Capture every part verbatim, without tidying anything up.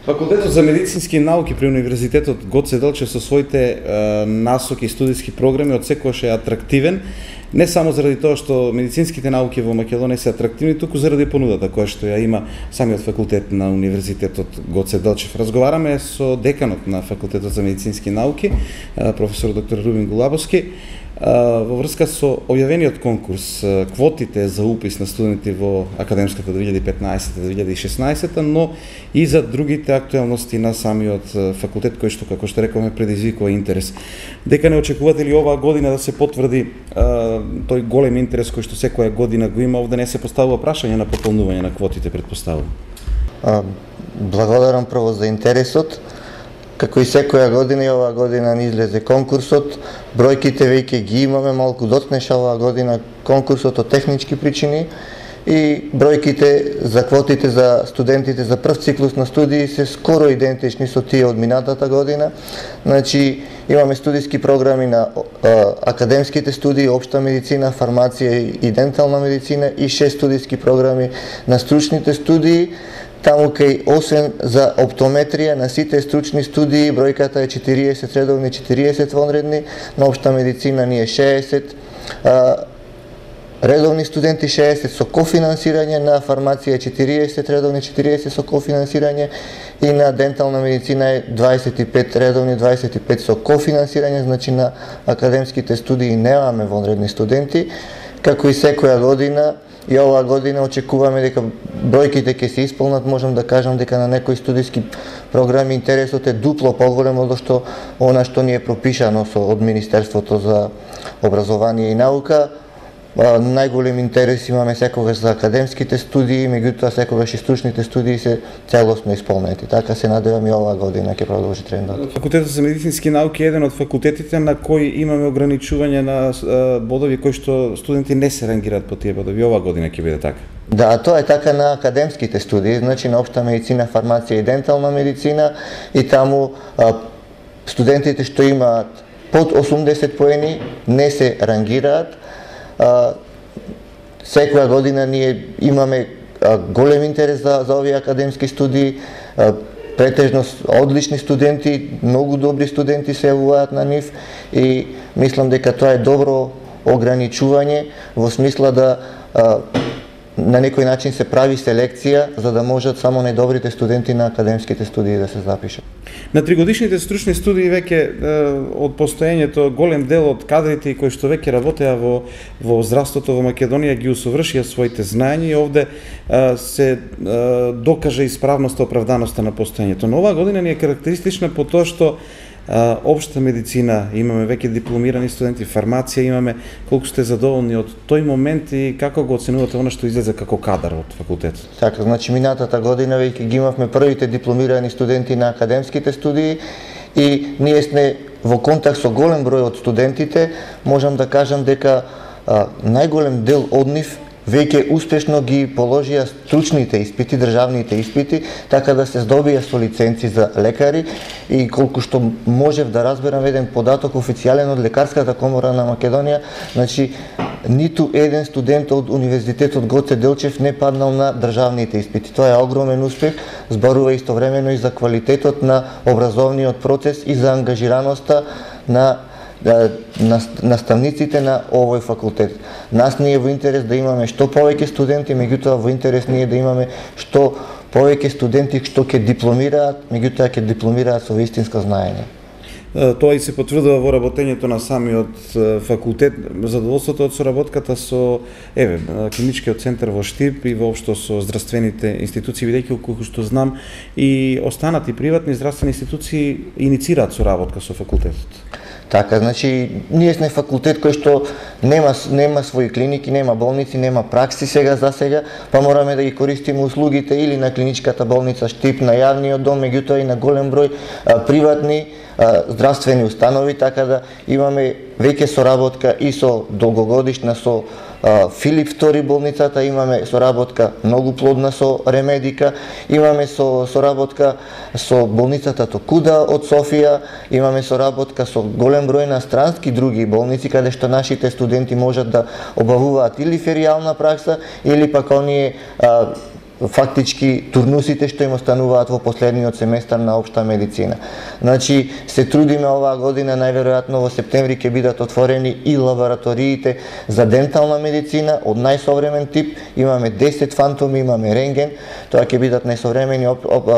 Факултетот за медицински науки при Универзитетот Гоце Делчев со своите е, насоки и студиски програми од секогаш е атрактивен, не само заради тоа што медицинските науки во Македонија се атрактивни, туку заради понудата која што ја има самиот факултет на Универзитетот Гоце Делчев. Разговараме со деканот на Факултетот за медицински науки, професор доктор Рубин Голабовски, во врска со објавениот конкурс, квотите за упис на студенти во академската две илјади и петнаесета - две илјади и шеснаесета, но и за другите актуелности на самиот факултет, кој што, како што рековме, предизвикува интерес. Дека не очекувате ли оваа година да се потврди а, тој голем интерес кој што секоја година го има, овде не се поставува прашање на пополнување на квотите, претпоставувам? Благодарам прво за интересот. Како и секоја година, и оваа година ни излезе конкурсот. Бројките веќе ги имаме, малку дотнеша оваа година конкурсот од технички причини и бројките за квотите за студентите за прв циклус на студии се скоро идентични со тие од минатата година. Значи, имаме студиски програми на а, академските студии, општа медицина, фармација и дентална медицина и шест студиски програми на стручните студии. Таму кај освен за оптометрија на сите стручни студии бројката е четириесет редовни, четириесет вонредни, на општа медицина ни е шеесет а, редовни студенти, шеесет со кофинансирање, на фармација четириесет редовни, четириесет со кофинансирање и на дентална медицина е дваесет и пет редовни, дваесет и пет со кофинансирање, значи на академските студии немаме вонредни студенти, како и секоја година. И оваа година очекуваме дека бројките ќе се исполнат, можам да кажам дека на некои студиски програми интересот е дупло поголем од што она што ни е пропишано со од Министерството за образование и наука. Најголем интерес имаме секогаш за академските студии, меѓутоа секогаш и стручните студии се целосно исполнети. Така се надевам и оваа година ќе продолжи трендот. Факултетот за медицински науки е еден од факултетите на кои имаме ограничување на бодови кои што студенти не се рангираат по тие бодови. Оваа година ќе биде така. Да, тоа е така на академските студии, значи на општа медицина, фармација и дентална медицина, и таму а, студентите што имаат под осумдесет поени не се рангираат. Uh, секоја година ние имаме uh, голем интерес за, за овие академски студии, uh, претежно одлични студенти, многу добри студенти се јавуваат на нив и мислам дека тоа е добро ограничување во смисла да uh, на некој начин се прави селекција за да можат само најдобрите студенти на академските студии да се запишат. На тригодишните стручни студии веќе од постоењето голем дел од кадрите кои што веќе работеа во во здравството во Македонија ги усовршија своите знаења и овде а, се а, докаже исправноста, оправданоста на постоењето. Но оваа година ни е карактеристична по тоа што а, општа медицина имаме веќе дипломирани студенти, фармација имаме. Колку сте задоволни од тој момент и како го оценувате она што излезе како кадар од факултетот? Така, значи минатата година веќе ги имавме првите дипломирани студенти на академските студии и ние сме во контакт со голем број од студентите. Можам да кажам дека а, најголем дел од нив веќе успешно ги положија стручните испити, државните испити, така да се здобија со лиценци за лекари и колку што можев да разберам еден податок официјален од Лекарската комора на Македонија, значи ниту еден студент од Универзитетот Гоце Делчев не паднал на државните испити. Тоа е огромен успех, зборува истовремено и за квалитетот на образовниот процес и за ангажираноста на наставниците на овој факултет. Нас ни е во интерес да имаме што повеќе студенти, меѓутоа во интерес ни е да имаме што повеќе студенти што ќе дипломираат, меѓутоа ќе дипломираат со вистинско знаење. Тоа и се потврдува во работењето на самиот факултет, задоволството од соработката со еве клиничкиот центар во Штип и воопшто со здравствените институции, бидејќи колку што знам и останати приватни здравствени институции иницираат соработка со факултетот. Така, значи, ние сме факултет кој што нема, нема своји клиники, нема болници, нема пракси сега за сега, па мораме да ги користиме услугите или на клиничката болница Штип, на јавниот дом, меѓутоа и на голем број а, приватни а, здравствени установи, така да имаме веќе соработка и со долгогодишна со а, Филип втори болницата, имаме соработка многу плодна со Ремедика, имаме со соработка со болницата Токуда од Софија, имаме соработка со голем број на странски други болници каде што нашите студенти можат да обавуваат или феријална пракса или пак оние а, фактички турнусите што им остануваат во последниот семестар на општа медицина. Значи се трудиме оваа година, најверојатно во септември ќе бидат отворени и лабораториите за дентална медицина од најсовремен тип. Имаме десет фантоми, имаме рентген, тоа ќе бидат најсовремени оп, оп,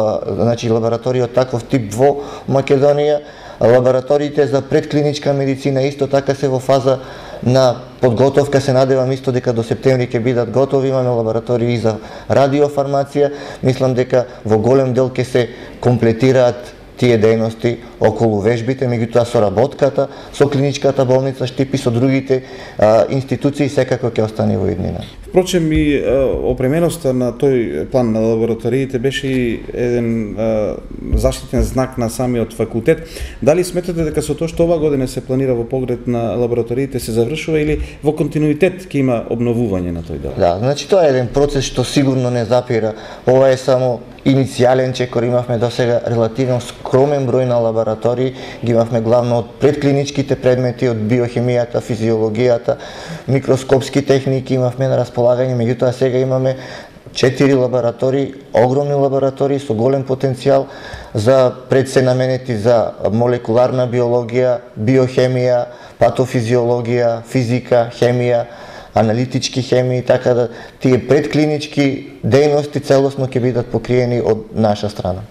значи лаборатории од таков тип во Македонија. Лабораториите за предклиничка медицина исто така се во фаза на подготовка, се надевам исто дека до септември ќе бидат готови. Имаме лаборатории за радиофармација, мислам дека во голем дел ќе се комплетираат тие дејности околу вежбите, меѓутоа соработката со клиничката болница Штип и со другите а, институции секако ќе остане во иднина. Впрочем, и опременоста на тој план на лабораториите беше и еден а, заштитен знак на самиот факултет. Дали сметате дека со тоа што ова година се планира во поглед на лабораториите се завршува или во континуитет ќе има обновување на тој дел? Да, значи тоа е еден процес што сигурно не запира. Ова е само иницијален чекор, имавме до сега релативно скромен број на лаборатории, ги имавме главно од предклиничките предмети, од биохемијата, физиологијата, микроскопски техники имавме на располагање, меѓутоа сега имаме четири лаборатории, огромни лаборатории со голем потенцијал за пред се наменети за молекуларна биологија, биохемија, патофизиологија, физика, хемија, аналитички хемии, така да тие предклинички дејности целосно ќе бидат покриени од наша страна.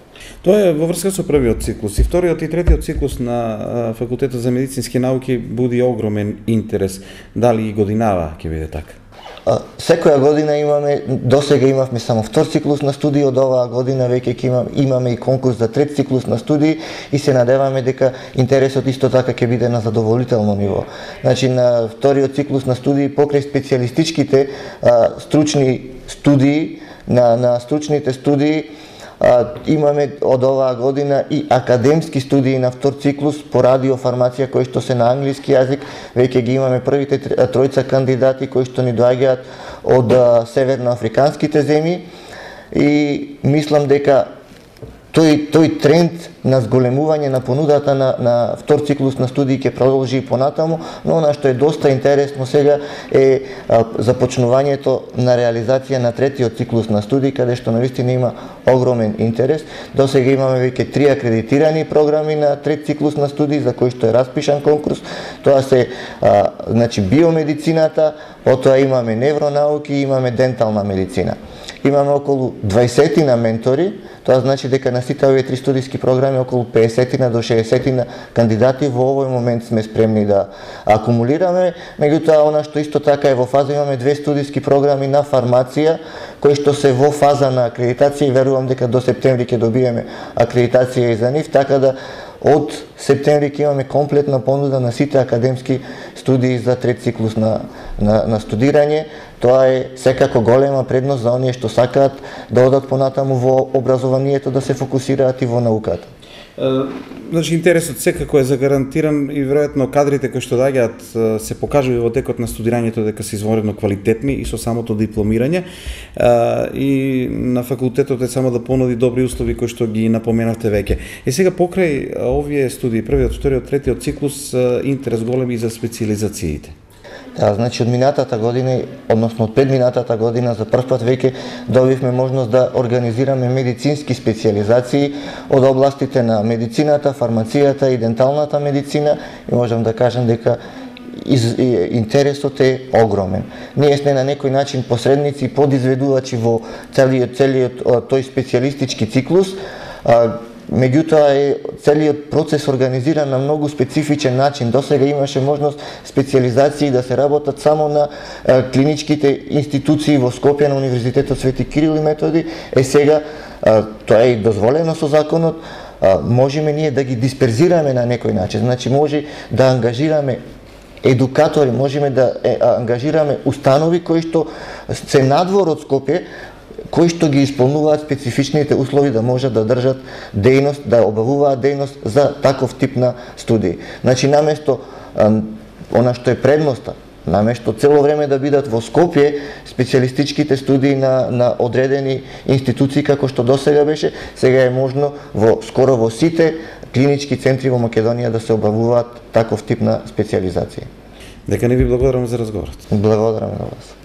Тоа е во врска со првиот циклус. И вториот и третиот циклус на Факултетот за медицински науки буди огромен интерес. Дали и годинава ќе биде така? Секоја година имаме, досега имавме само втор циклус на студии, од оваа година веќе ќе имаме, имаме и конкурс за трет циклус на студии и се надеваме дека интересот исто така ќе биде на задоволително ниво. Значи на вториот циклус на студии покрај специјалистичките а, стручни студии, на, на стручните студии А, имаме од оваа година и академски студии на втор циклус по радиофармација кои што се на англиски јазик. Веќе ги имаме првите тројца кандидати кои што ни доаѓаат од а, северноафриканските земји и мислам дека тој тој тренд на зголемување на понудата на на втор циклус на студии ќе продолжи и понатаму, но она што е доста интересно сега е а, започнувањето на реализација на третиот циклус на студии, каде што навистина има огромен интерес. До сега имаме веќе три акредитирани програми на трет циклус на студии за кои што е распишан конкурс. Тоа се а, значи биомедицината, потоа имаме невронауки и имаме дентална медицина. Имаме околу дваесет ментори, тоа значи дека на сите овие три студиски програми околу педесет до шеесет кандидати во овој момент сме спремни да акумулираме. Меѓутоа, она што исто така е во фаза, имаме две студиски програми на фармација, кои што се во фаза на акредитација и верувам дека до септември ќе добиеме акредитација и за нив, така да од септември ќе имаме комплетна понуда на сите академски студии за трет циклус на, на, на студирање. Тоа е секако голема предност за оние што сакаат да одат понатаму во образованието, да се фокусираат и во науката. Значи, интересот секако е загарантиран и веројатно кадрите кои што доаѓаат се покажува во текот на студирањето дека се извонредно квалитетни и со самото дипломирање. И на факултетот е само да понуди добри услови кои што ги напоменавте веќе. И сега покрај овие студии, првиот, вториот, третиот циклус, интерес голем и за специализациите. Да, значи од минатата година, односно од предминатата година, за прв пат веќе добивме можност да организираме медицински специализации од областите на медицината, фармацијата и денталната медицина и можам да кажам дека из, и, интересот е огромен. Ние сме на некој начин посредници, подизведувачи во целиот, целиот тој специјалистички циклус. Меѓутоа е целиот процес организиран на многу специфичен начин. Досега имаше можност специализации да се работат само на е, клиничките институции во Скопје на Универзитетот Свети Кирил и Методи. Е сега е, тоа е дозволено со законот. Е, можеме ние да ги дисперзираме на некој начин. Значи може да ангажираме едукатори, можеме да е, ангажираме установи кои што се надвор од Скопје, кои што ги исполнуваат специфичните услови да можат да држат дејност, да обавуваат дејност за таков тип на студии. Значи, наместо она што е предноста, наместо цело време да бидат во Скопје специјалистичките студии на, на одредени институции како што досега беше, сега е можно во скоро во сите клинички центри во Македонија да се обавуваат таков тип на специјализација. Дека не ви благодарам за разговорот. Благодарам на вас.